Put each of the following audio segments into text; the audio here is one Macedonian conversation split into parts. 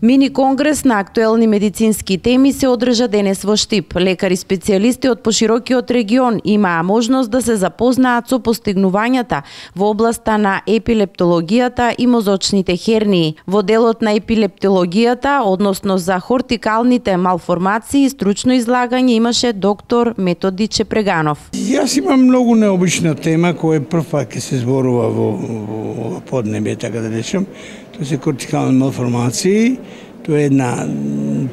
Мини конгрес на актуелни медицински теми се одржа денес во Штип. Лекари специјалисти од поширокиот регион имаа можност да се запознаат со постигнувањата во областа на епилептологијата и мозочните хернии. Во делот на епилептологијата, односно за хортикалните малформации, стручно излагање имаше доктор Методи Чепреганов. Јас имам многу необична тема која прв пат ќе се зборува во поднебие, така да речем. Тоа се кортикални малформации. Тоа е една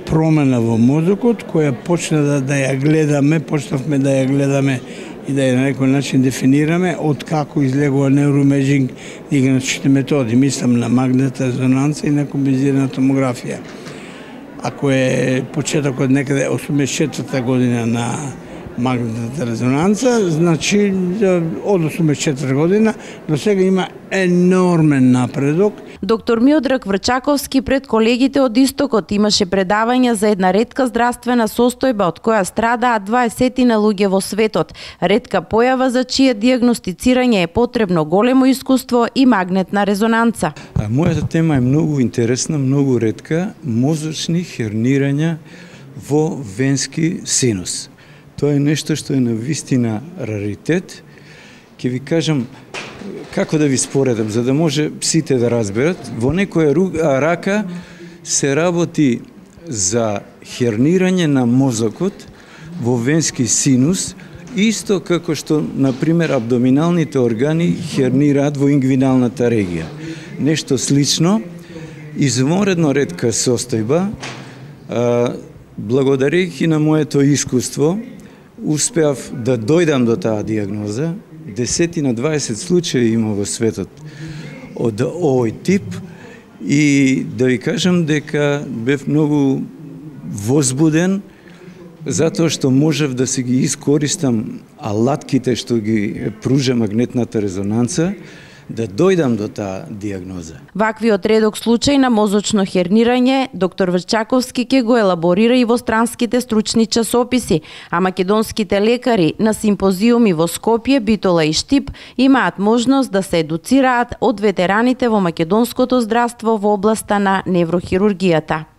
промена во мозокот која почна да ја гледаме, почнавме да ја гледаме и да ја на некој начин дефинираме од како излегува неуроимеџинг диагностични методи. Мислам на магнетна резонанца и на комбинирана томографија. Ако е почетокот некаде 84-та година на магнетната резонанца, значи од 84 година до сега има енормен напредок. Доктор Миодраг Врчаковски пред колегите од Истокот имаше предавања за една ретка здравствена состојба од која страдаат 20 луѓе во светот. Ретка појава за чие дијагностицирање е потребно големо искуство и магнетна резонанца. Мојата тема е многу интересна, многу ретка, мозочни хернирања во венски синус. Тоа е нешто што е навистина раритет. Ќе ви кажам како да ви споредам, за да може сите да разберат. Во некоја рака се работи за хернирање на мозокот во венски синус, исто како што, например, абдоминалните органи хернираат во ингвиналната регија. Нешто слично, извонредно ретка состојба, благодарејќи на моето искуство, успеав да дојдам до таа диагноза. 10 на 20 случаи има во светот од овој тип и да ви кажам дека бев многу возбуден затоа што можев да се ги искористам алатките што ги пружа магнетната резонанца, да дојдам до таа диагноза. Ваквиот редок случај на мозочно хернирање доктор Врчаковски ќе го елаборира и во странските стручни часописи, а македонските лекари на симпозиуми во Скопје, Битола и Штип имаат можност да се едуцираат од ветераните во македонското здравство во областа на неврохирургијата.